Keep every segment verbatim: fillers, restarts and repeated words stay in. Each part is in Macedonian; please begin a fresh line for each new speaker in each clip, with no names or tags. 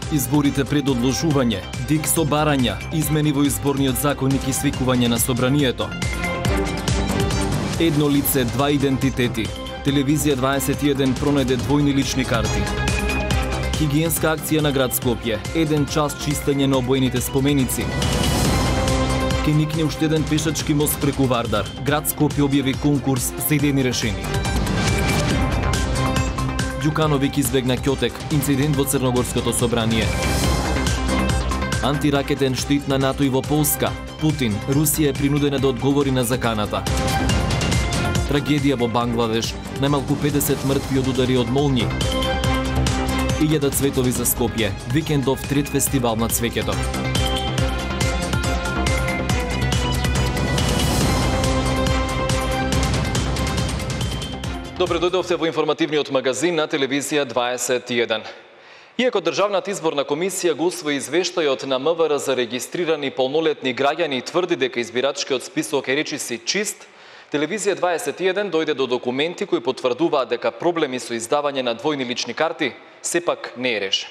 Изборите пред одложување, ДИК со барања, измени во изборниот законник и свикување на собранието. Едно лице, два идентитети. Телевизија дваесет и еден пронајде двојни лични карти. Хигиенска акција на град Скопје, еден час чистење на обоените споменици. Ке никне уште еден пешачки мост преку Вардар. Град Скопје објави конкурс за идејни решени. Ѓукановиќ избегна ќотек, инцидент во Црногорското собрание. Антиракетен штит на НАТО и во Полска. Путин, Русија е принудена да одговори на заканата. Трагедија во Бангладеш, најмалку педесет мртви од удари од молњи. Илјада цветови за Скопје, викендов трет фестивал на цвеќето. Добре дојдовте во информативниот магазин на телевизија дваесет и еден. Иако Државната изборна комисија го усвои извештајот на МВР за регистрирани полнолетни граѓани и тврди дека избирачкиот список е речиси чист, телевизија дваесет и еден дојде до документи кои потврдуваат дека проблеми со издавање на двојни лични карти сепак не е решен.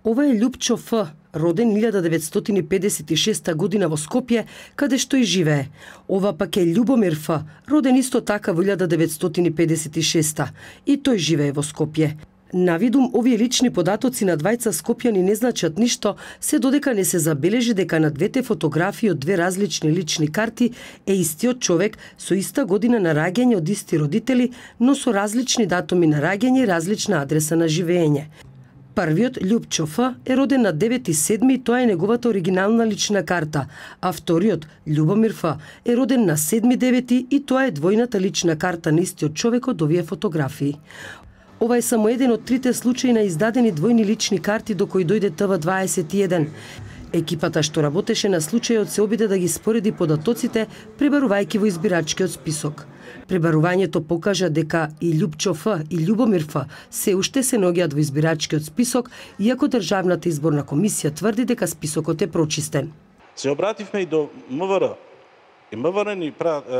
Ова е Љупчо Ф, роден илјада деветстотини педесет и шеста година во Скопје, каде што и живее. Ова пак е Љубомир Ф, роден исто така во илјада деветстотини педесет и шеста, и тој живее во Скопје. Навидум, овие лични податоци на двајца скопјани не значат ништо, се додека не се забележи дека на двете фотографии од две различни лични карти е истиот човек со иста година на раѓање од исти родители, но со различни датуми на раѓање и различна адреса на живење. Првиот, Љупчо Ф, е роден на девети седми и тоа е неговата оригинална лична карта, а вториот, Љубомир Ф, е роден на седми девети и тоа е двојната лична карта на истиот човек од овие фотографии. Ова е само еден од трите случаи на издадени двојни лични карти до кои дојде Т В дваесет и еден. Екипата што работеше на случајот се обиде да ги спореди податоците, пребарувајќи во избирачкиот список. Пребарувањето покажа дека и Љупчо Ф и Љубомир Ф се уште се наоѓаат во избирачкиот список, иако Државната изборна комисија тврди дека списокот е прочистен.
Се обративме и до МВР. И МВР ни,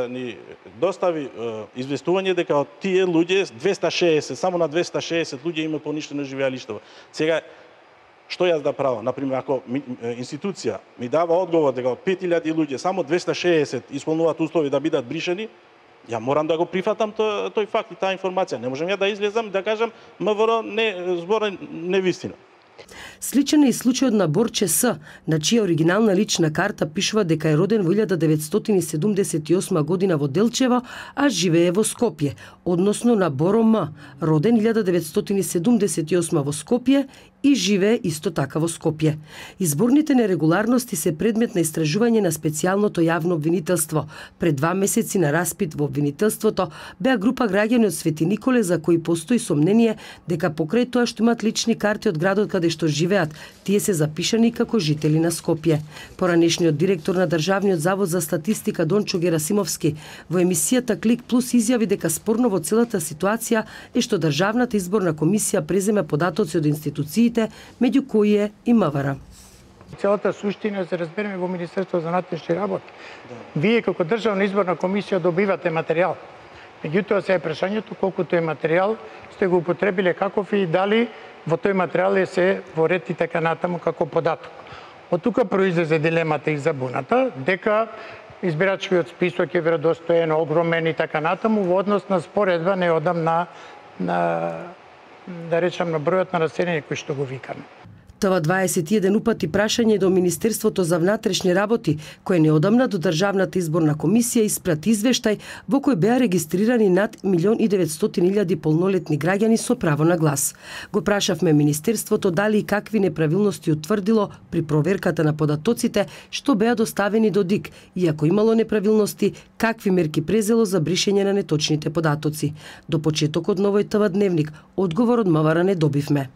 ни достави известување дека од тие луѓе, двеста шеесет, само на двеста шеесет луѓе има поништено живеалиштево. Сега, што јас да правам? Например, ако ми, институција ми дава одговор дека од пет илјади луѓе само двеста шеесет исполнуваат услови да бидат бришени, ја морам да го прифатам тој, тој факт и таа информација. Не можам ја да излезам да кажам МВР не збора невистина.
Сличен е и случајот на Борче С, на чија оригинална лична карта пишува дека е роден во илјада деветстотини седумдесет и осма година во Делчево, а живее во Скопје, односно на Боро М, роден илјада деветстотини седумдесет и осма во Скопје и живее исто така во Скопје. Изборните нерегуларности се предмет на истражување на специјалното јавно обвинителство. Пред два месеци на распит во обвинителството беа група граѓани од Свети Николе за кои постои сомнение дека покрај тоа што имаат лични карти од градот каде што живеат, тие се запишани како жители на Скопје. Поранешниот директор на Државниот завод за статистика Дончо Герасимовски во емисијата Клик Плюс изјави дека спорно во целата ситуација е што Државната изборна комисија преземе податоци од институциите, меѓу кои е и МВР.
Целата суштина се разбереме во Министерството за внатрешни работи. Вие како Државна изборна комисија добивате материјал. Меѓутоа се е прашањето колку тој материјал сте го употребиле каков и дали во тој материјал е се во ред и така натаму како податок. Од тука произлезе дилемата и забуната дека избирачкиот список е веродостоен, огромен и така натаму во однос на споредба неодам на, на да речам на бројот на населени кои што го викаме.
Т В дваесет и еден упати прашање до Министерството за внатрешни работи, кое неодамна до Државната изборна комисија испрати извештај во кој беа регистрирани над милион и деветстотини илјади полнолетни граѓани со право на глас. Го прашавме Министерството дали и какви неправилности утврдило при проверката на податоците што беа доставени до ДИК, и ако имало неправилности, какви мерки презело за бришење на неточните податоци. До почетокот на овој Т В дневник, одговор од МВР не добивме.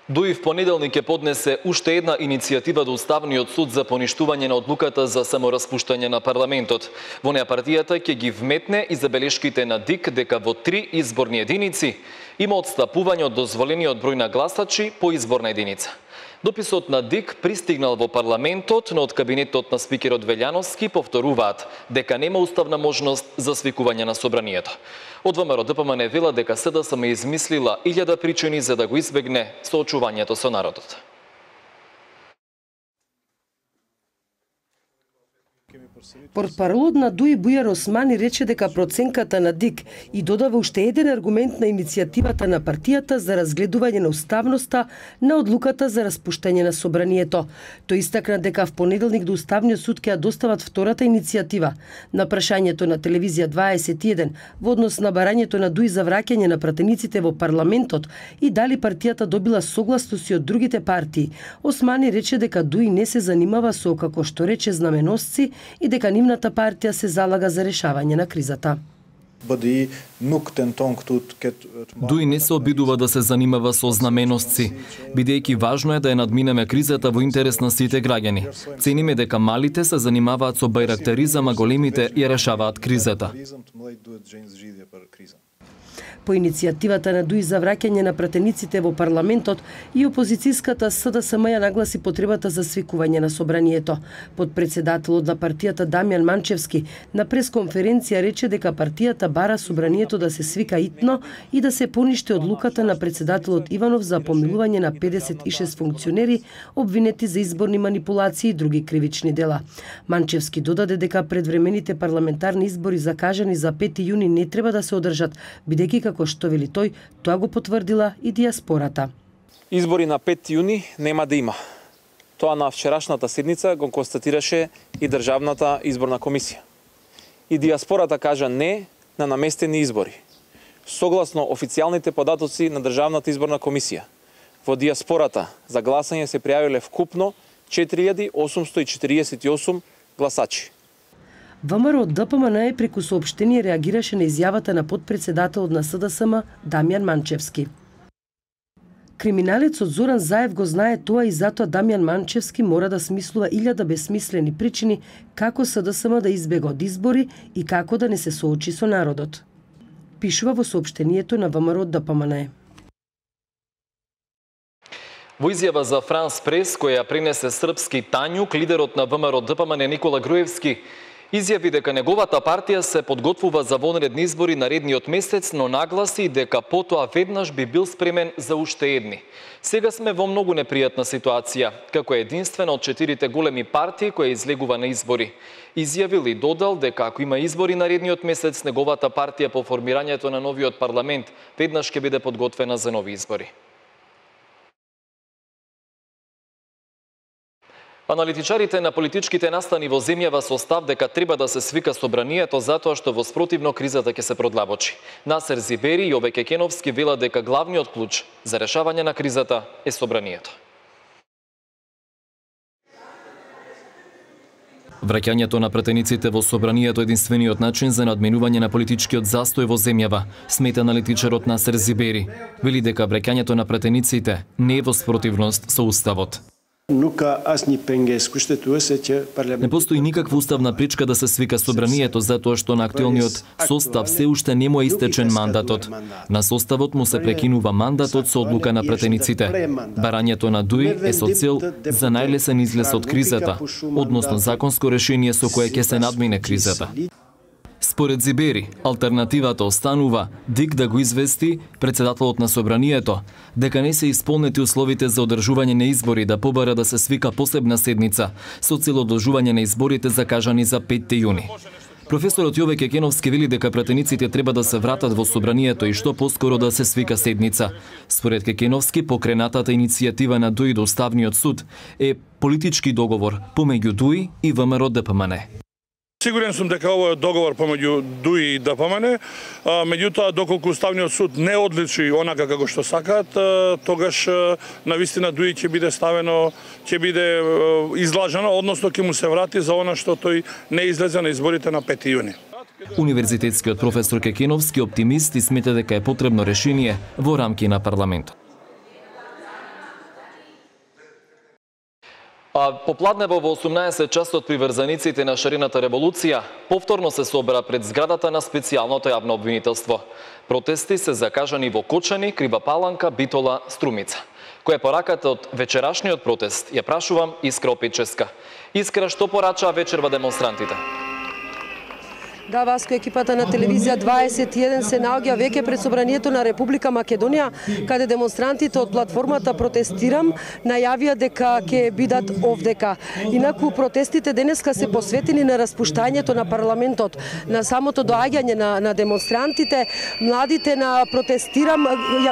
ДУИ в понеделник ќе поднесе уште една иницијатива до Уставниот суд за поништување на одлуката за самораспуштање на парламентот. Во неа партијата ќе ги вметне и забелешките на ДИК дека во три изборни единици има отстапување од дозволениот број на гласачи по изборна единица. Дописот на ДИК пристигнал во парламентот, но од кабинетот на спикерот Велјановски повторуваат дека нема уставна можност за свикување на собранието. Од ВМРО Д П М Н вела дека СДСМ измислила илјада причини за да го избегне соочувањето со народот.
Портпаролот на ДУИ Бујар Османи рече дека проценката на ДИК и додава уште еден аргумент на иницијативата на партијата за разгледување на уставноста на одлуката за распуштање на собранието. Тој истакна дека в понеделник до Уставниот суд ќе ја достават втората иницијатива. На прашањето на телевизија дваесет и еден во однос на барањето на ДУИ за враќање на пратениците во парламентот и дали партијата добила согласност и од другите партии, Османи рече дека ДУИ не се занимава со, како што рече, знаменосци и дека нивната партија се залага за решавање на кризата.
ДУИ не се обидува да се занимава со знаменосци, бидејќи важно е да ја надминеме кризата во интерес на сите граѓани. Цениме дека малите се занимаваат со бајрактаризам, а големите ја решаваат кризата.
По иницијативата на ДУИ за враќање на пратениците во парламентот и опозицијската СДСМ ја нагласи потребата за свикување на собранието. Подпредседателот на партијата Дамјан Манчевски на пресконференција рече дека партијата бара собранието да се свика итно и да се поништи одлуката на председателот Иванов за помилување на педесет и шест функционери обвинети за изборни манипулации и други кривични дела. Манчевски додаде дека предвремените парламентарни избори закажани за пети јуни не треба да се одржат, бидејќи како што вели тој, тоа го потврдила и диаспората.
Избори на пети јуни нема да има. Тоа на вчерашната седница го констатираше и Државната изборна комисија. И диаспората кажа не на наместени избори. Согласно официјалните податоци на Државната изборна комисија, во диаспората за гласање се пријавиле вкупно четири илјади осумсто и четиридесет и осум гласачи.
ВМРО Д П М Н преку соопштение реагираше на изјавата на подпредседателот на СДСМ Дамјан Манчевски. Криминалецот Зоран Заев го знае тоа и затоа Дамјан Манчевски мора да смислува илјада бесмислени причини како СДСМ да избега од избори и како да не се соочи со народот. Пишува во соопштението на ВМРО Д П М Н.
Во изјава за Франс Прес, која пренесе српски Тањук, лидерот на ВМРО Д П М Н Никола Груевски изјави дека неговата партија се подготвува за вонредни избори наредниот месец, но нагласи дека потоа веднаш би бил спремен за уште едни. Сега сме во многу непријатна ситуација, како е единствена од четирите големи партии која излегува на избори. Изјавил и додал дека ако има избори наредниот месец, неговата партија по формирањето на новиот парламент веднаш ќе биде подготвена за нови избори. Аналитичарите на политичките настани во земјава со став дека треба да се свика собранието затоа што во спротивно кризата ќе се продлабочи. Насер Зибери и Јове Кекеновски велат дека главниот клуч за решавање на кризата е собранието. Враќањето на пратениците во собранието е единствениот начин за надминување на политичкиот застој во земјава, смета аналитичарот Насер Зибери. Вели дека враќањето на пратениците не е во спротивност со уставот. Не постои никаква уставна пречка да се свика собранието затоа што на актуелниот состав се уште не му е истечен мандатот. На составот му се прекинува мандатот со одлука на пратениците. Барањето на ДУИ е со цел за најлесен излез од кризата, односно законско решение со кое ќе се надмине кризата. Според Зибери, алтернативата останува ДИК да го извести председателот на собранието дека не се исполнети условите за одржување на избори да побара да се свика посебна седница со цел одржување на изборите закажани за пети јуни. Професорот Јове Кекеновски вели дека пратениците треба да се вратат во собранието и што поскоро да се свика седница. Според Кекеновски, покренатата иницијатива на ДУИ до Уставниот суд е политички договор помеѓу ДУИ и ВМРО Д П М Н.
Сигурен сум дека овој е договор помеѓу ДУИ и Д П М Н, меѓутоа доколку Уставниот суд не одличи онака како што сакаат, тогаш навистина ДУИ ќе биде ставено, ќе биде излажено, односно ќе му се врати за она што тој не излезе на изборите на пети јуни.
Универзитетскиот професор Кекеновски оптимист и смета дека е потребно решение во рамки на парламентот. А попладнево во осумнаесет часот приврзаниците на шарената револуција повторно се собра пред зградата на специјалното јавно обвинителство. Протести се закажани во Кочани, Крива Паланка, Битола, Струмица. Која е пораката од вечерашниот протест? Ја прашувам Искра Опеческа. Искра, што порачаа вечерва демонстрантите?
Да, Васко, екипата на телевизија дваесет и еден се наоѓа веќе пред собранието на Република Македонија, каде демонстрантите од платформата Протестирам најавија дека ќе бидат овдека. Инаку протестите денеска се посветени на распуштањето на парламентот, на самото доаѓање на, на демонстрантите. Младите на Протестирам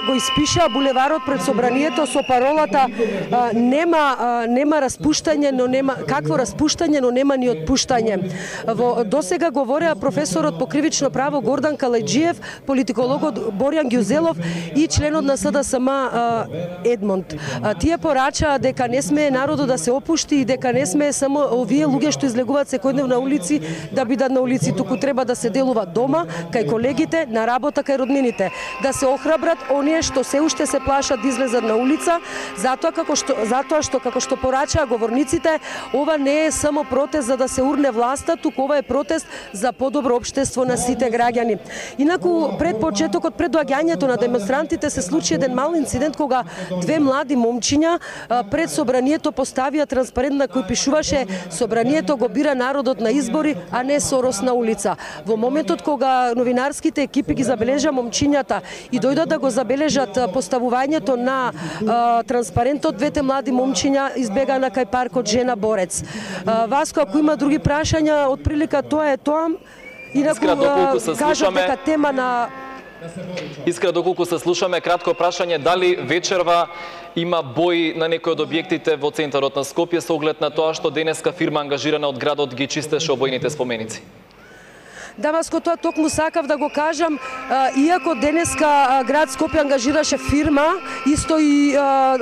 го испишаа булеварот пред собранието со паролата а, нема а, нема распуштање, но нема какво распуштање, но нема ни отпуштање. Во досега говореа професорот по кривично право Гордан Калајджиев, политикологот Борјан Ѓузелов и членот на СДСМ Едмонд. Тие порачаа дека не смее народот да се опушти и дека не смее само овие луѓе што излегуваат секојдневно на улици да бидат на улици, туку треба да се делува дома, кај колегите, на работа, кај роднините. Да се охрабрат оние што се уште се плашат да излезат на улица, затоа како што затоа што како што порачаа говорниците, ова не е само протест за да се урне власта, туку ова е протест за подобро општество на сите граѓани. Инаку пред почетокот, пред доаѓањето на демонстрантите се случи еден мал инцидент кога две млади момчиња пред собранието поставија транспарент на кој пишуваше собранието го бира народот на избори, а не Сорос на улица. Во моментот кога новинарските екипи ги забележа момчињата и дојдат да го забележат поставувањето на а, транспарентот, двете млади момчиња избега на кај паркот Жена Борец. А, Васко, ако има други прашања, од прилика тоа е тоа. Инаку кажам дека тема на
Искра, доколку се слушаме, кратко прашање, дали вечерва има бои на некои од објектите во центарот на Скопје со оглед на тоа што денеска фирма ангажирана од градот ги чистеше обојните споменици?
Да, Васко, тоа токму сакав да го кажам, а, иако денеска а, град Скопје ангажираше фирма, исто и а,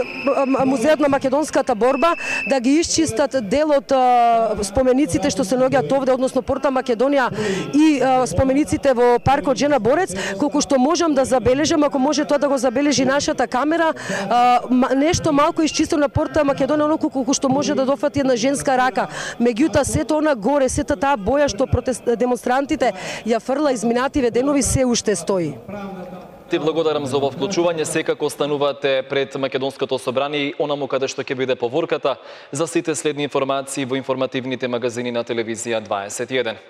Музеот на македонската борба, да ги исчистат дел од а, спомениците што се наоѓаат овде, односно Порта Македонија и а, спомениците во паркот Жена Борец, колку што можам да забележам, ако може тоа да го забележи нашата камера, а, нешто малку исчистено на Порта Македонија, оноку колку што може да дофати една женска рака. Меѓутоа, сето она горе, сета таа боја што протест, демонстрантите ја фрла изминативе денови се уште стои.
Ти благодарам за ово вклучување. Секако останувате пред Македонското собрание и онаму каде што ќе биде поворката за сите следни информации во информативните магазини на телевизија дваесет и еден.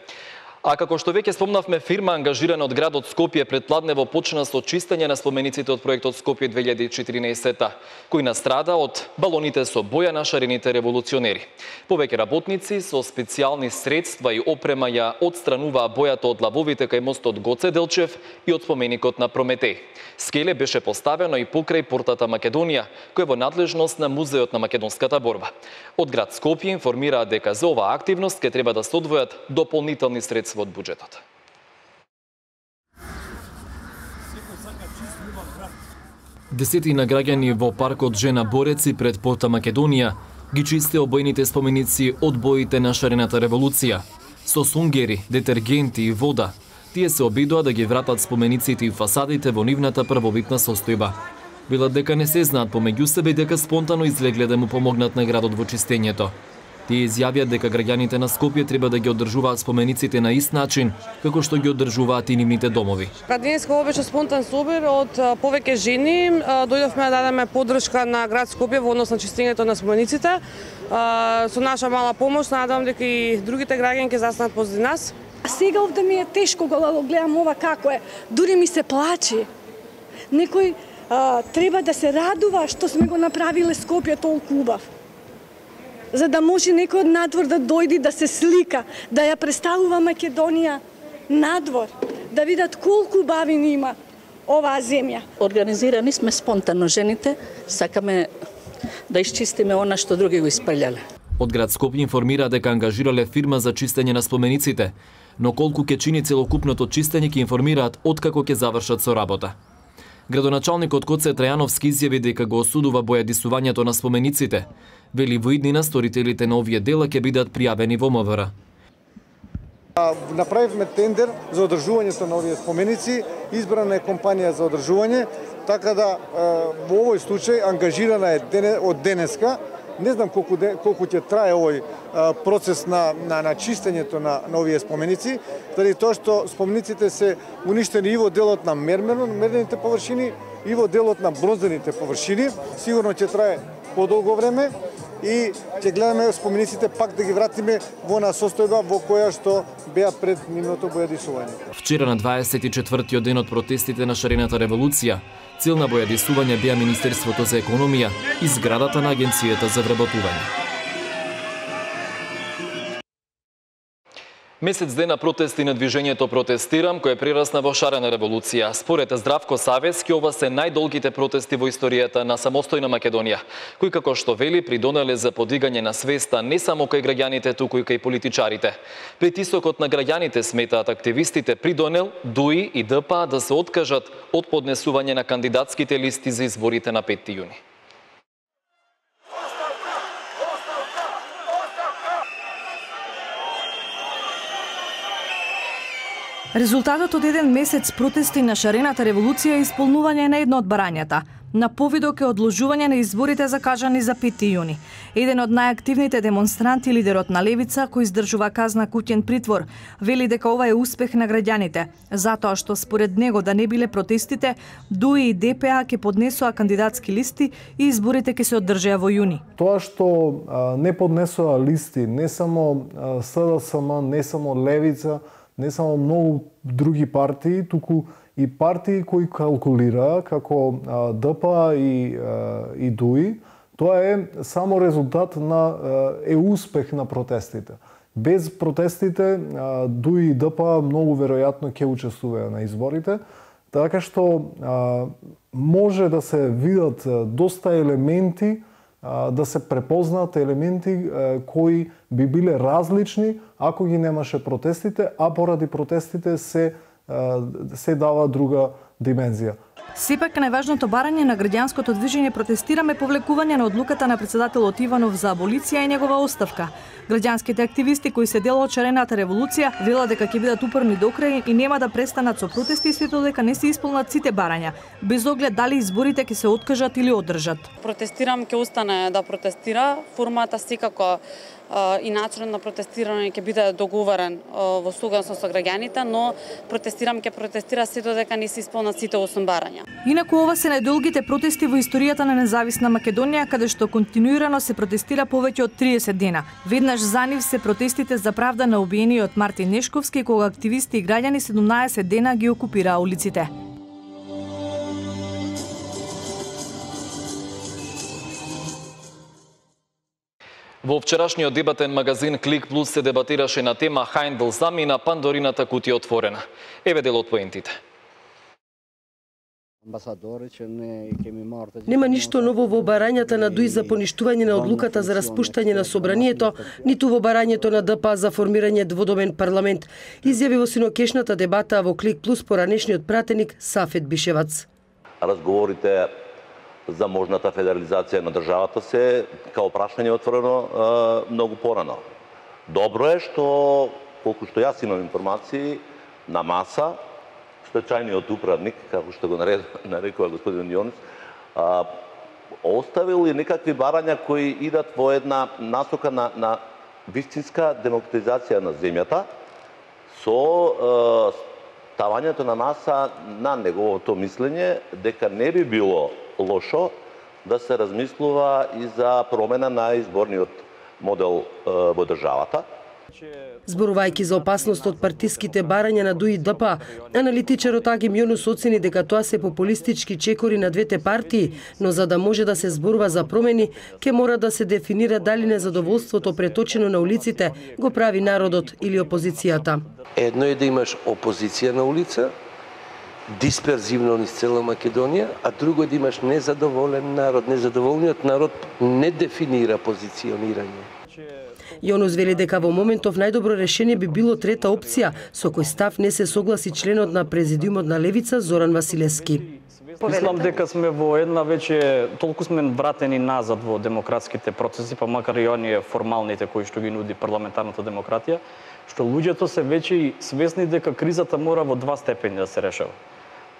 А како што веќе спомнавме, фирма ангажирана од градот Скопје предпладнево почна со чистење на спомениците од проектот Скопје две илјади и четирнаесетта, кој настрада од балоните со боја на шарените револуционери. Повеќе работници со специјални средства и опрема ја отстрануваа бојата од лавовите кај мостот Гоце Делчев и од споменикот на Прометеј. Скеле беше поставено и покрај портата Македонија, кој е во надлежност на Музеот на македонската борба. Од град Скопје информираат дека за оваа активност ќе треба да се одвојат дополнителни средства од буџетот. Десетина граѓани во паркот Жена Борец и пред Порта Македонија ги чисте обојните споменици од боите на шарената револуција. Со сунгери, детергенти и вода, тие се обидоа да ги вратат спомениците и фасадите во нивната првобитна состојба. Велат дека не се знаат помеѓу себе и дека спонтано излегле да му помогнат на градот во чистењето. Тие изјавија дека граѓаните на Скопје треба да ги одржуваат спомениците на ист начин, како што ги одржуваат и нивните домови.
Денеска ова беше спонтан собир од повеќе жени. Дојдовме да дадеме поддршка на град Скопје во однос на чистењето на спомениците. Со наша мала помош, надевам дека и другите граѓани ќе застанат позади нас.
Сега овде ми е тешко кога го гледам ова како е. Дури ми се плаче. Некој а, треба да се радува што сме го направиле Скопје толку убав. За да може некој од надвор да дојде да се слика, да ја представува Македонија надвор, да видат колку убавини има оваа земја.
Организирани сме спонтано жените, сакаме да исчистиме она што други го испрљале.
Од град Скопје информира дека ангажирале фирма за чистење на спомениците, но колку ќе чини целокупното чистење ќе информираат откако ќе завршат со работа. Градоначалникот Коце Трајановски изјави дека го осудува бојадисувањето на спомениците. Вели во иднина сторителите на овие дела ќе бидат пријавени во МВР.
Направивме тендер за одржувањето на овие споменици, избрана е компанија за одржување, така да во овој случај ангажирана е од денеска Не знам колку де, колку ќе трае овој процес на на на чистењето на, на овие споменици, заради тоа што спомениците се уништени и во делот на мермерно мернените површини и во делот на бронзените површини. Сигурно ќе трае подолго време и ќе гледаме спомениците пак да ги вратиме во на состојба во која што беа пред нивното бојадисување.
Вчера на дваесет и четвртиот ден од протестите на шарената револуција, цел на бојадисување беа Министерството за економија и зградата на Агенцијата за вработување. Месец дена протести на движењето Протестирам, кое прерасна во шарена револуција. Според Здравко Савески, ова се најдолгите протести во историјата на самостојна Македонија, кои како што вели придонеле за подигање на свеста не само кај граѓаните, туку и кај политичарите. Притисокот на граѓаните, сметаат активистите, придонел ДУИ и ДПА да се откажат од поднесување на кандидатските листи за изборите на петти јуни.
Резултатот од еден месец протести на шарената револуција е исполнување на едно од барањата. На повидок е одложување на изборите закажани за петти јуни. Еден од најактивните демонстранти, лидерот на Левица, кој издржува казна куќен притвор, вели дека ова е успех на граѓаните, затоа што според него да не биле протестите, ДУИ и ДПА ќе поднесоа кандидатски листи и изборите ќе се одржеа во јуни.
Тоа што а, не поднесоа листи, не само а, СДСМ, не само Левица, не само многу други партии, туку и партии кои калкулира како ДПА и, и ДУИ, тоа е само резултат на е успех на протестите. Без протестите ДУИ и ДПА многу веројатно ќе учествуваат на изборите, така што може да се видат доста елементи, да се препознаат елементи кои би биле различни ако ги немаше протестите, а поради протестите се се дава друга димензија.
Сепак најважното барање на граѓанското движење Протестираме повлекување на одлуката на председателот Иванов за аболиција и негова оставка. Граѓанските активисти кои се дел од шарената револуција велат дека ќе бидат упорни до крај и нема да престанат со протести сето додека не се исполнат сите барања, без оглед дали изборите ќе се откажат или одржат.
Протестирам ќе остане да протестира, формата секако и начинот на протестирање ќе биде договорен во согласност со граѓаните, но Протестирам ќе протестира сето додека не се исполнат сите осум барања.
Инаку ова се најдолгите протести во историјата на независна Македонија, каде што континуирано се протестира повеќе од триесет дена. Веднаш за нив се протестите за правда на убиениот Мартин Нешковски, кога активисти и граѓани седумнаесет дена ги окупираа улиците.
Во вчерашниот дебатен магазин Клик Плюс се дебатираше на тема Хајндл замина, Пандорината кутија отворена. Еве дел од поентите.
Нема ништо ново во барањата на ДУИ за поништување на одлуката за распуштање на собранието, ниту во барањето на ДПА за формирање дводомен парламент, изјави во синокешната дебата во Клик Плюс поранешниот пратеник Сафет Бишевац.
Разговорите за можната федерализација на државата се као прашање отворено многу порано. Добро е што, колку што јас имам информации, на маса, стечајниот управник, како што го нарекува господин Јонис, оставил и некакви барања кои идат во една насока на, на вистинска демократизација на земјата, со ставањето на маса на неговото мислење дека не би било лошо да се размислува и за промена на изборниот модел во државата.
Зборувајќи за опасност од партиските барања на ДУИ и ДПА, аналитичарот Агим Јонус оцени дека тоа се популистички чекори на двете партии, но за да може да се зборува за промени, ќе мора да се дефинира дали незадоволството преточено на улиците го прави народот или опозицијата.
Едно е да имаш опозиција на улица, дисперзивно низ цела Македонија, а друго е да имаш незадоволен народ. Незадоволниот народ не дефинира позиционирање.
Јонус вели дека во моментов најдобро решение би било трета опција, со кој став не се согласи членот на президиумот на Левица Зоран Василевски.
Мислам дека сме во една веќе толку сме вратени назад во демократските процеси, па макар и оние формалните кои што ги нуди парламентарната демократија, што луѓето се веќе свесни дека кризата мора во два степени да се решава.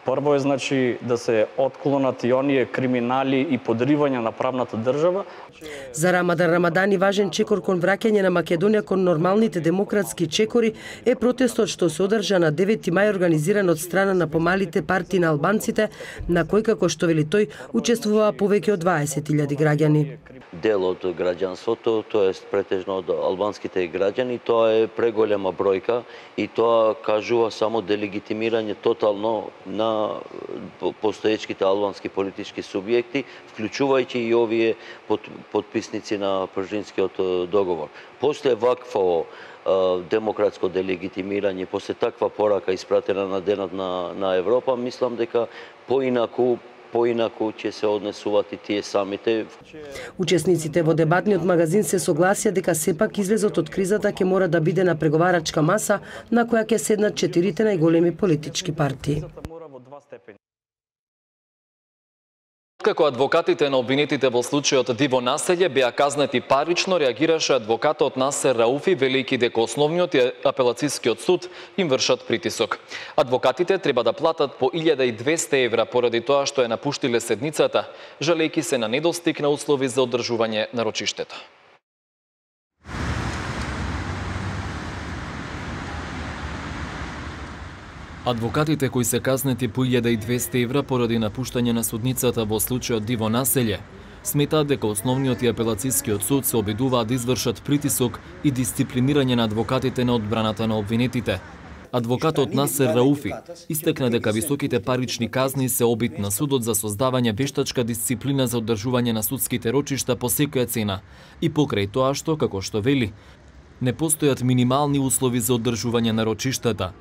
Прво е значи да се отклонат и оние криминали и подривања на правната држава.
За Рамадан Рамадани важен чекор кон враќање на Македонија кон нормалните демократски чекори е протестот што се одржа на девети мај организиран од страна на помалите партии на албанците, на кој, како што вели тој, учествуваа повеќе од дваесет илјади граѓани.
Дел од граѓанството, тоест претежно од албанските граѓани, тоа е преголема бројка и тоа кажува само делегитимирање тотално на постоечките албански политички субјекти, вклучувајќи и овие подписници на Пржинскиот договор. После вакво демократско делегитимирање, после таква порака испратена на денот на, на Европа, мислам дека поинаку поинаку ќе се однесуваат и тие самите.
Учесниците во дебатниот магазин се согласија дека сепак излезот од кризата ќе мора да биде на преговарачка маса на која ќе седнат четирите најголеми политички партии.
Како адвокатите на обвинетите во случајот Диво Населје беа казнати парично, реагираше адвокатот Насер Рауфи, велики дека основниот и апелацискиот суд им вршат притисок. Адвокатите треба да платат по илјада и двесте евра поради тоа што ја напуштиле седницата, жалејќи се на недостиг на услови за одржување на рочиштето. Адвокатите кои се казнети по илјада и двесте евра поради напуштање на судницата во случајот Диво Населје, сметаат дека основниот и апелацискиот суд се обидуваат да извршат притисок и дисциплинирање на адвокатите на одбраната на обвинетите. Адвокатот Насер Рауфи истекна дека високите парични казни се обид на судот за создавање вештачка дисциплина за одржување на судските рочишта по секоја цена и покрај тоа што, како што вели, не постојат минимални услови за одржување на рочиштата.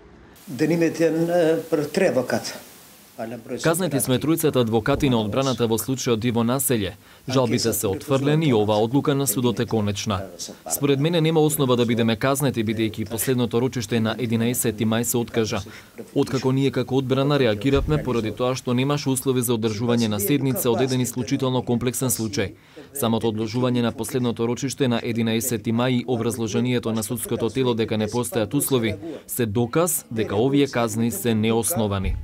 Казнети сме тројцата адвокати на одбраната во случајот Диво Населје. Жалбите се отфрлени и оваа одлука на судот е конечна. Според мене нема основа да бидеме казнети, бидејќи последното рочиште на единаесети мај се откажа. Откако ние како одбрана реагиравме поради тоа што немаше услови за одржување на седница од еден исклучително комплексен случај. Самото одложување на последното рочиште на единаесети мај и образложението на судското тело дека не постојат услови се доказ дека овие казни се неосновани.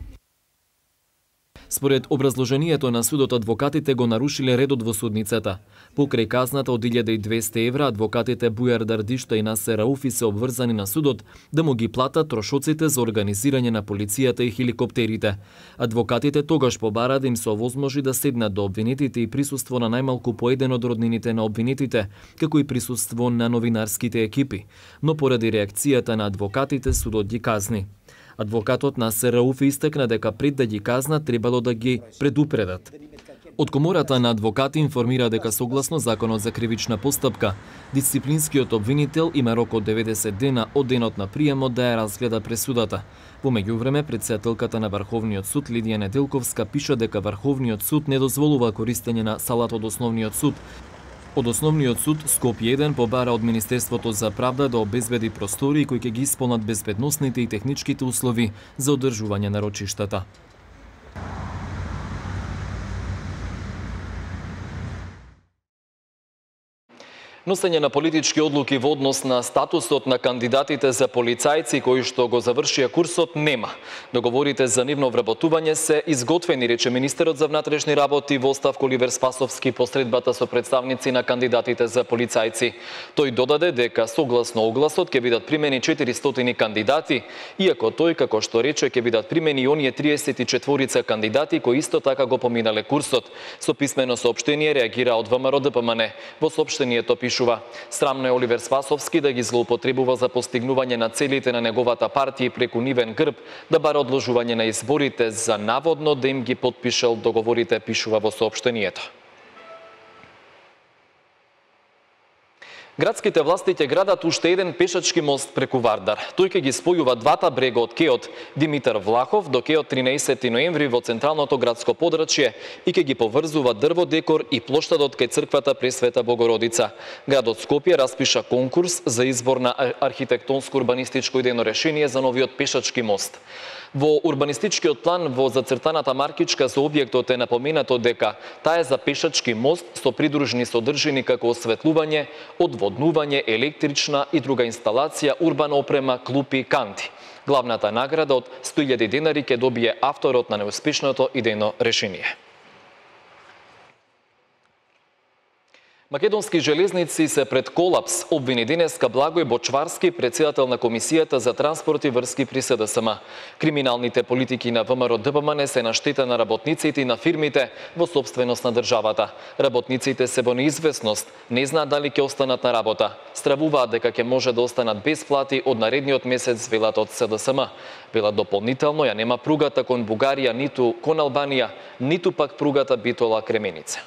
Според образложението на судот, адвокатите го нарушиле редот во судницата. Покрај казната од илјада и двесте евра, адвокатите Бујар Дардишта и Насер Рауфи се обврзани на судот да му ги платат трошоците за организирање на полицијата и хеликоптерите. Адвокатите тогаш побара да им се овозможи да седнат до обвинетите и присуство на најмалку по еден од роднините на обвинетите, како и присуство на новинарските екипи. Но поради реакцијата на адвокатите, судот ги казни. Адвокатот Насер Рауфи истекна дека пред да ги казнат требало да ги предупредат. Од комората на адвокати информира дека согласно Законот за кривична постапка, дисциплинскиот обвинител има рок од деветдесет дена од денот на приемот да ја разгледа пресудата. Во меѓувреме, претседателката на Врховниот суд Лидија Неделковска пиша дека Врховниот суд не дозволува користење на салата од Основниот суд. Од Основниот суд Скопје еден побара од Министерството за правда да обезбеди простори кои ќе ги исполнат безбедносните и техничките услови за одржување на рочиштата. Носење на политички одлуки во однос на статусот на кандидатите за полицајци кои што го завршија курсот нема. Договорите за нивно вработување се изготвени, рече министерот за внатрешни работи во оставка Оливер Спасовски по средбата со представници на кандидатите за полицајци. Тој додаде дека согласно огласот ќе бидат примени четиристотини кандидати, иако тој, како што рече, ќе бидат примени и оние триесет и четворица кандидати кои исто така го поминале курсот. Со писмено соопштение реагира од ВМРО Д П М Н. Во соопштението пише: Срамно е Оливер Спасовски да ги злоупотребува за постигнување на целите на неговата партија преку нивен грб, да бара одложување на изборите за наводно да им ги потпишал договорите, пишува во соопштението. Градските власти ќе градат уште еден пешачки мост преку Вардар. Тој ќе ги спојува двата брега од кеот Димитар Влахов до кеот тринаесети ноември во централното градско подрачје и ќе ги поврзува дрво декор и плоштадот кај црквата Пресвета Богородица. Градот Скопје распиша конкурс за избор на архитектонско-урбанистичко идејно решение за новиот пешачки мост. Во урбанистичкиот план во зацртаната маркичка за објектот е напоменато дека таа е за пешачки мост со придружни содржини како осветлување, одводнување, електрична и друга инсталација, урбана опрема, клупи, канти. Главната награда од сто илјади денари ќе добие авторот на неуспешното идејно решение. Македонски железници се пред колапс, обвини денеска Благој Бочварски, председател на Комисијата за транспорт и врски при С Д С М. Криминалните политики на В М Р Д П М Н се на штета на работниците и на фирмите во собственост на државата. Работниците се во неизвестност, не знаат дали ќе останат на работа. Стравуваат дека ќе може да останат без плати од наредниот месец, велат од С Д С М. Велат дополнително ја нема пругата кон Бугарија, ниту кон Албанија, ниту пак пругата Битола Кременица.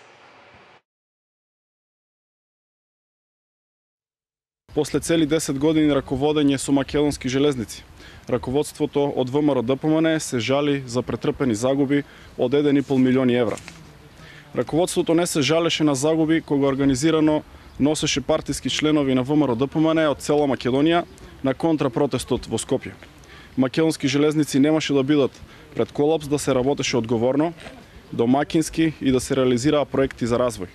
После цели десет години раководење со македонски железници, раководството од В М Р Д П М Н се жали за претрпени загуби од еден и пол милиони евра. Раководството не се жалеше на загуби кога организирано носеше партиски членови на В М Р Д П М Н од цела Македонија на контрапротестот во Скопје. Македонски железници немаше да бидат пред колапс, да се работеше одговорно, домакински и да се реализираа проекти за развој.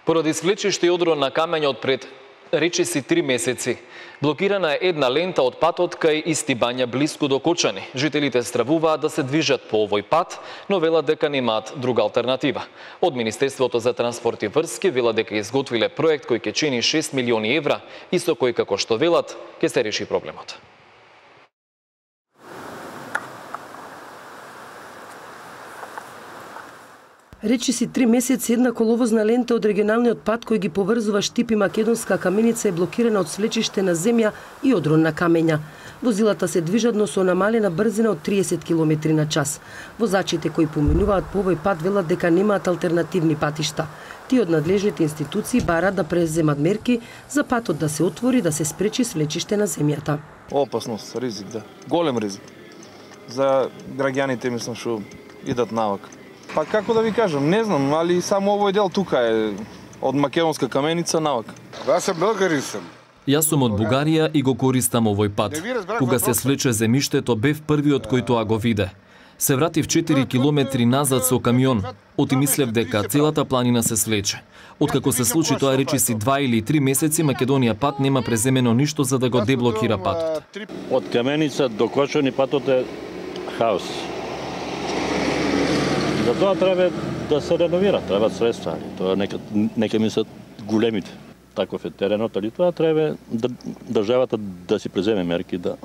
Поради свлечиште и одрон на камењот пред речиси три месеци, блокирана е една лента од патот кај Истибања блиску до Кочани. Жителите стравуваат да се движат по овој пат, но велат дека немаат друга алтернатива. Од Министерството за транспорт и врски велат дека изготвиле проект кој ќе чини шест милиони евра и со кој, како што велат, ќе се реши проблемот.
Речиси три месеци една коловозна лента од регионалниот пат кој ги поврзува Штип и Македонска Каменица е блокирана од свлечиште на земја и одрон на камења. Возилата се движат, но со намалена брзина од триесет километри на час. Возачите кои поминуваат по овој пат велат дека немаат алтернативни патишта. Тие од надлежните институции бараат да преземат мерки за патот да се отвори, да се спречи свлечиште на земјата.
Опасност, ризик, да. Голем ризик. За граѓаните, мислам, што идат навак. Па како да ви кажам, не знам, али само овој дел тука е од Македонска Каменица навак.
Јас сум българин сум.
Јас сум од Бугарија и го користам овој пат. Кога се свлече земјиштето, бев првиот кој тоа го виде. Се вратив четири километри назад со камион. Оти мислев дека целата планина се свлече. Откако се случи тоа речиси два или три месеци, Македонија пат нема преземено ништо за да го деблокира патот.
Од Каменица до Кочани патот е хаос. За тоа треба да се реновира, треба средства. Тоа нека нека мислат големите. Таков е теренот, али тоа треба да државата да си преземе мерки да.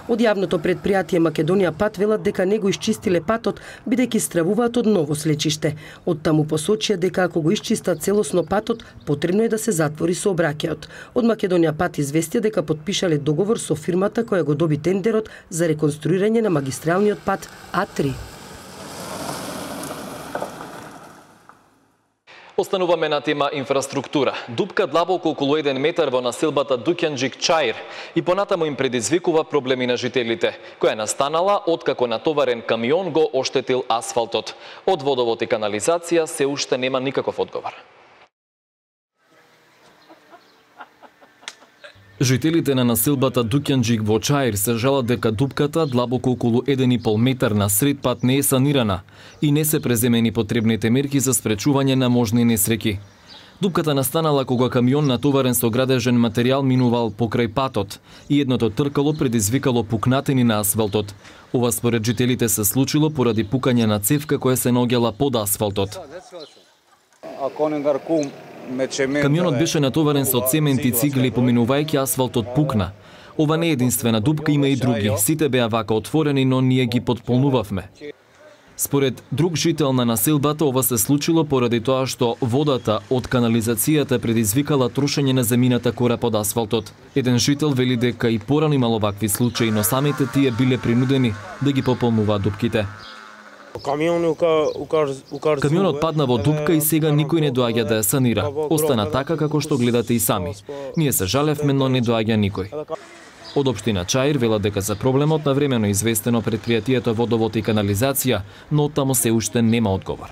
Од јавното предпријатие Македонија пат велат дека не го исчистиле патот, бидејќи стравуваат од ново слечиште. Од таму посочија дека ако го исчистат целосно патот, потребно е да се затвори сообраќајот. Од Македонија пат известија дека потпишале договор со фирмата која го доби тендерот за реконструирање на магистралниот пат А три.
Остануваме на тема инфраструктура. Дупка длабоко околу еден метар во населбата Дукјанџик Чаир и понатаму им предизвикува проблеми на жителите, која настанала откако натоварен камион го оштетил асфалтот. Од водовод и канализација се уште нема никаков одговор. Жителите на населбата Дукјанџик во Чаир се жалат дека дупката длабоко околу еден и пол метар на сред пат не е санирана и не се преземени потребните мерки за спречување на можни несреќи. Дупката настанала кога камион натоварен со градежен материјал минувал покрај патот и едното тркало предизвикало пукнатини на асфалтот. Ова според жителите се случило поради пукање на цевка која се наоѓала под асфалтот. Камионот беше натоварен со цемент и цигли, поминувајќи асфалтот пукна. Ова не е единствена дупка, има и други. Сите беа вака отворени, но ние ги потполнувавме. Според друг жител на населбата, ова се случило поради тоа што водата од канализацијата предизвикала трошење на земјината кора под асфалтот. Еден жител вели дека и порано имало вакви случаи, но самите тие биле принудени да ги пополнуваат дупките. Камионот падна во дупка и сега никој не доаѓа да ја санира. Остана така како што гледате и сами. Ние се жалевме, но не доаѓа никој. Од општина Чаир велат дека за проблемот навремено известено предпријатието Водовод и канализација, но таму се уште нема одговор.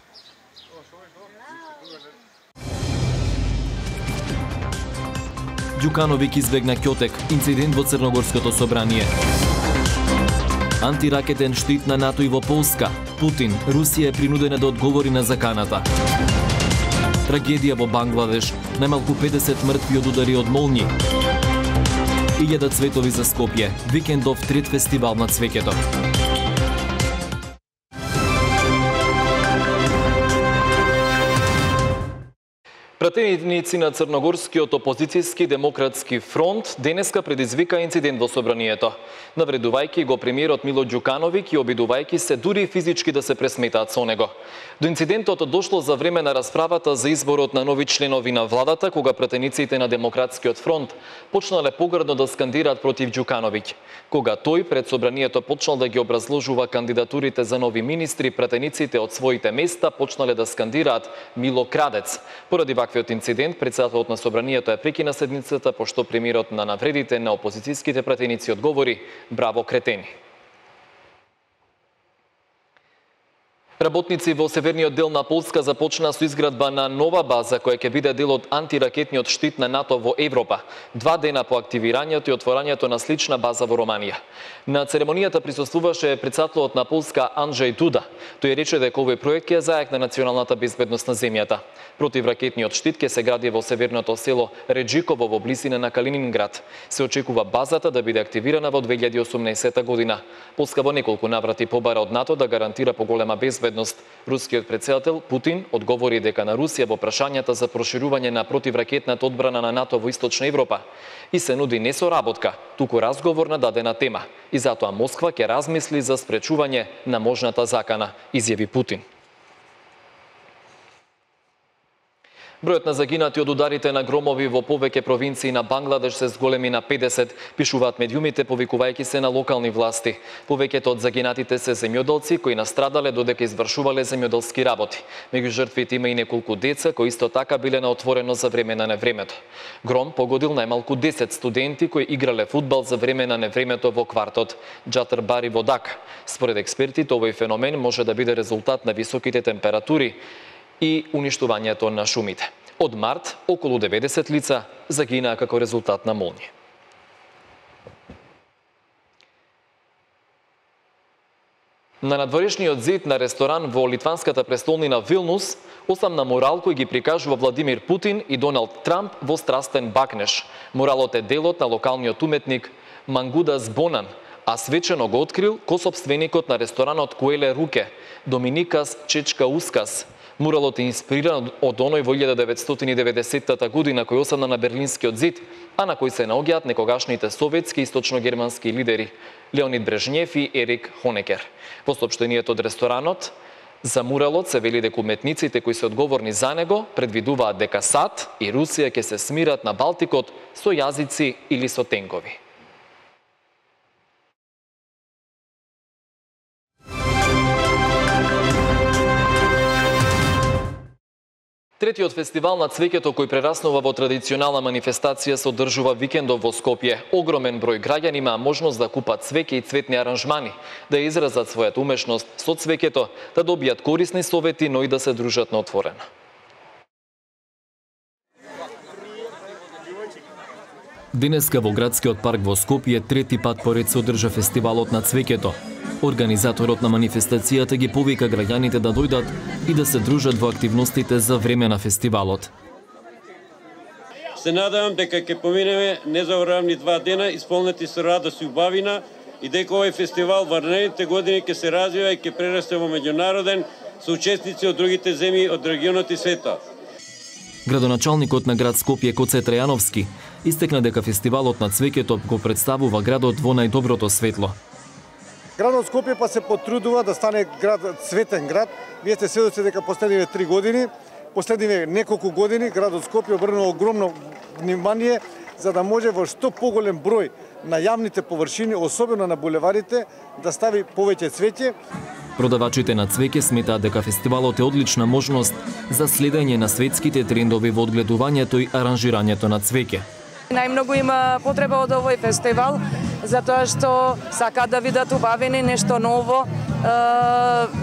Ѓукановиќ избегна Ќотек, инцидент во Црногорското собрание. Антиракетен штит на НАТО и во Полска. Путин, Русија е принудена да одговори на заканата. Трагедија во Бангладеш. Најмалку педесет мртви од удари од молњи. илјада цветови за Скопје. Викендов трет фестивал на цвеќето. Пратеници на Црногорскиот опозицијски демократски фронт денеска предизвика инцидент во собранието, навредувајќи го премиерот Мило Ѓукановиќ и обидувајќи се дури физички да се пресметаат со него. До инцидентот дошло за време на расправата за изборот на нови членови на владата, кога пратениците на Демократскиот фронт почнале погрдно да скандираат против Ѓукановиќ. Кога тој пред собранието почнал да ги образложува кандидатурите за нови министри, пратениците од своите места почнале да скандираат Мило крадец. Поради ваквиот инцидент, председателот на собранието е прекина седницата, пошто премиерот на навредите на опозицијските пратеници одговори: браво, кретени. Работници во северниот дел на Полска започнаа со изградба на нова база која ќе биде дел од антиракетниот штит на НАТО во Европа, два дена по активирањето и отворањето на слична база во Романија. На церемонијата присуствуваше председателот на Полска Анджеј Дуда. Тој рече дека овој проект ќе зајакне националната безбедност на земјата. Противракетниот штит ќе се гради во северното село Реджиково во близина на Калининград. Се очекува базата да биде активирана во две илјади и осумнаесета година. Полска во неколку наврати побара од НАТО да гарантира поголема безбедност. Рускиот председател Путин одговори дека на Русија во прашањата за проширување на противракетната одбрана на НАТО во Источна Европа и се нуди не соработка, туку разговор на дадена тема. И затоа Москва ќе размисли за спречување на можната закана, изјави Путин. Бројот на загинати од ударите на громови во повеќе провинции на Бангладеш се зголеми на педесет, пишуваат медиумите повикувајќи се на локални власти. Повеќето од загинатите се земјоделци кои настрадале додека извршувале земјоделски работи. Меѓу жртвите има и неколку деца кои исто така биле на отворено за време на невремето. Гром погодил најмалку десет студенти кои играле фудбал за време на невремето во квартот Џатарбари во Дака. Според експертите, овој феномен може да биде резултат на високите температури и уништувањето на шумите. Од март, околу деветдесет лица загинаа како резултат на молњи. На надворешниот зид на ресторан во литванската престолнина Вилнус, осамна мурал кој ги прикажува Владимир Путин и Доналд Трамп во страстен бакнеж. Муралот е делот на локалниот уметник Мангудас Бонан, а свечено го открил косопственикот на ресторанот Куеле Руке, Доминикас Чечкаускас. Муралот е инспириран од оној во илјада деветстотини и деветдесетта година кој осадна на Берлинскиот зид, а на кој се наоѓаат некогашните советски и источногермански лидери Леонид Брежнев и Ерик Хонекер. Во соопштението од ресторанот за муралот се вели дека уметниците кои се одговорни за него предвидуваат дека САД и Русија ќе се смират на Балтикот со јазици или со тенкови. Третиот фестивал на цвеќето кој прераснува во традиционална манифестација се одржува викендов во Скопје. Огромен број граѓани имаа можност да купат цвеќе и цветни аранжмани, да изразат својата умешност со цвеќето, да добијат корисни совети, но и да се дружат на отворено. Денеска во градскиот парк во Скопје трети пат поред се одржа фестивалот на цвеќето. Организаторот на манифестацијата ги повика граѓаните да дојдат и да се дружат во активностите за време на фестивалот.
Се надевам дека ќе поминеме незаборавни два дена исполнети со радост и убавина и дека овој фестивал во наредните години ќе се развива и ќе прерасте во меѓународен со учесници од другите земји од регионот и светот.
Градоначалникот на град Скопје Коце Трајановски истекна дека фестивалот на цвеќето го представува градот во најдоброто светло.
Градот Скопје па се потрудува да стане град цветен град. Вие сте сведоци дека последниве три години, последниве неколку години градот Скопје обрнува огромно внимание за да може во што поголем број на јавните површини, особено на булеварите, да стави повеќе цвеќе.
Продавачите на цвеќе сметаат дека фестивалот е одлична можност за следење на светските трендови во одгледувањето и аранжирањето на цвеќе.
Најмногу има потреба од овој фестивал, затоа што сакаат да видат убавени нешто ново,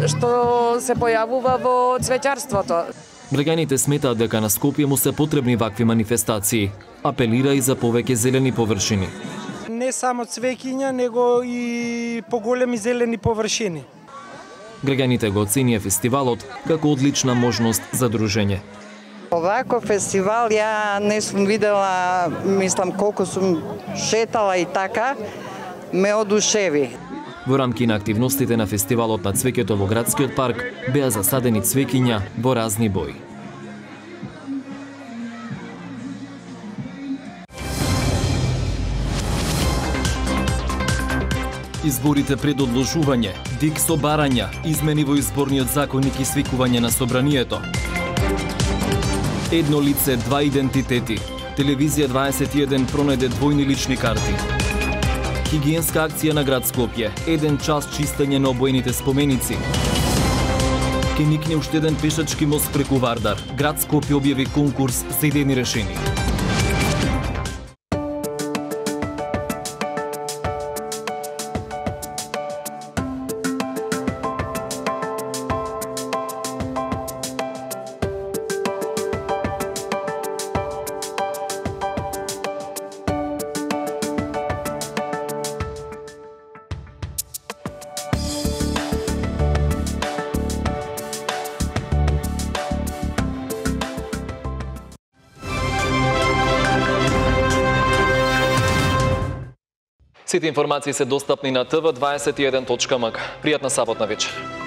што се појавува во цвеќарството.
Граѓаните сметаат дека на Скопје му се потребни вакви манифестации. Апелира и за повеќе зелени површини.
Не само цвеќиња, него и поголеми зелени површини.
Граѓаните го оценија фестивалот како одлична можност за дружење.
Овако фестивал ја не сум видела, мислам колку сум шетала и така, ме одушеви.
Во рамки на активностите на фестивалот на цвеќето во градскиот парк беа засадени цвеќиња во разни бои. Изборите пред одложување, дик со барања, измени во изборниот законник и свикување на собранието. Едно лице, два идентитети. Телевизија дваесет и еден пронајде двојни лични карти. Хигиенска акција на град Скопје, еден час чистење на обоените споменици. Ке никне уште еден пешачки мост преку Вардар. Град Скопје објави конкурс за идејни решени. Сите информации се достапни на т в дваесет и еден точка м к. Пријатна саботна вечер.